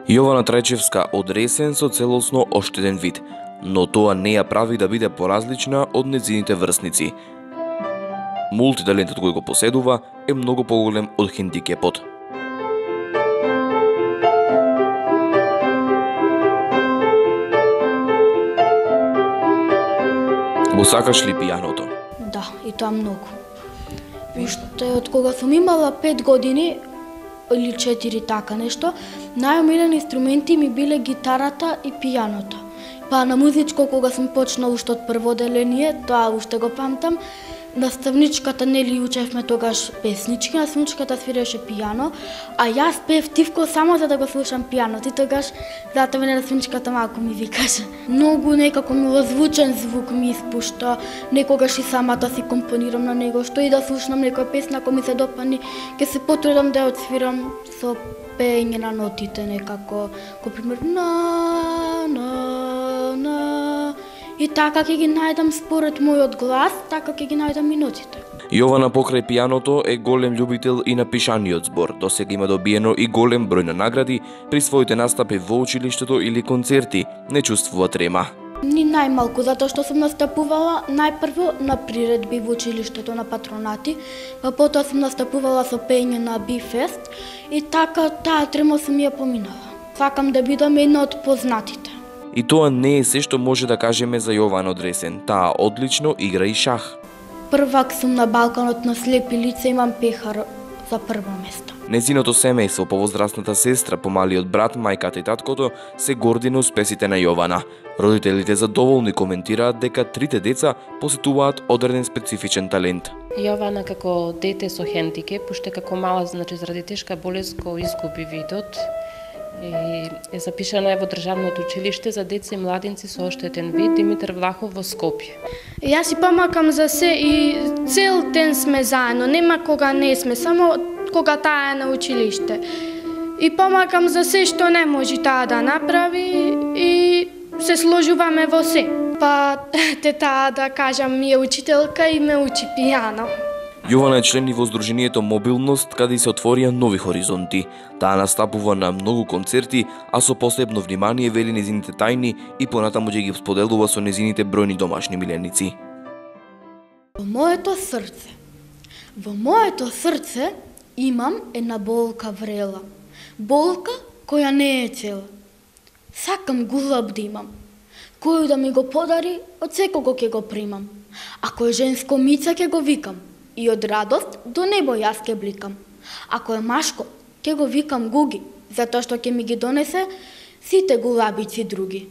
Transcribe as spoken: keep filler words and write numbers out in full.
Јована Трајчевска од Ресен со целосно оштетен вид, но тоа не ја прави да биде поразлична од нејзините врсници. Мултиталентот кој го поседува е многу поголем од хендикепот. Го сакаш ли пијаното? Да, и тоа многу. Уште од кога сум имала пет години или четири така нешто, најомилени инструменти ми биле гитарата и пијаното. Па на музичко кога сум почнала уште од прво деление, тоа уште го памтам, наставничката нели учевме тогаш песнички, наставничката свиреше пијано, а јас пеев тивко само за да го слушам пијаното и тогаш затоа мене наставничката малку ми викаше. Многу некако милозвучен звук ми испушта, некогаш и самата си компонирам на него, што и да слушнам некоја песна ако ми се допани, ќе се потрудам да ја отсвирам со пеење на нотите некако, ко пример на на на и така ќе ги најдам според мојот глас, така ќе ги најдам и нотите. Јована покрај пијаното е голем љубител и на пишаниот збор. Досега има добиено и голем број на награди при своите настапи во училиштето или концерти. Не чувствува трема. Ни најмалку, затоа што сум настапувала најпрво на приредби во училиштето на патронати, па потоа сум настапувала со пеење на Би-фест и така таа трема сум ја поминала. Сакам да бидам една од познатите. И тоа не е се што може да кажеме за Јована од Ресен. Таа одлично игра и шах. Првак сум на Балканот на слепи лица, имам пехар за прво место. Незиното семејство, повозрасната сестра, помалиот брат, мајката и таткото се горди на успесите на Јована. Родителите задоволни коментираат дека трите деца посетуваат одреден специфичен талент. Јована како дете со хендикеп, уште како мала, значи заради тешка болест го изгуби видот. И е запишана во Државното училиште за деца и младинци со оштетен вид Димитар Влахов во Скопје. Јас си помакам за се и цел ден сме заедно, нема кога не сме, само кога таа е на училиште. И помакам за се што не може таа да направи и се сложуваме во се. Па те таа да кажам ми е учителка и ме учи пијано. Јована е член и во Здруженијето Мобилност, каде се отворија нови хоризонти. Таа настапува на многу концерти, а со посебно внимание вели незините тајни и понатаму ќе ги споделува со незините бројни домашни миленици. Во моето срце, во моето срце имам една болка врела. Болка која не е цела. Сакам гулаб да имам. Кој да ми го подари, од секого ќе го примам. Ако е женско мица, ќе го викам. И од радост до небо јас ке бликам. Ако е машко, ќе го викам Гуги, затоа што ќе ми ги донесе сите гулабици други.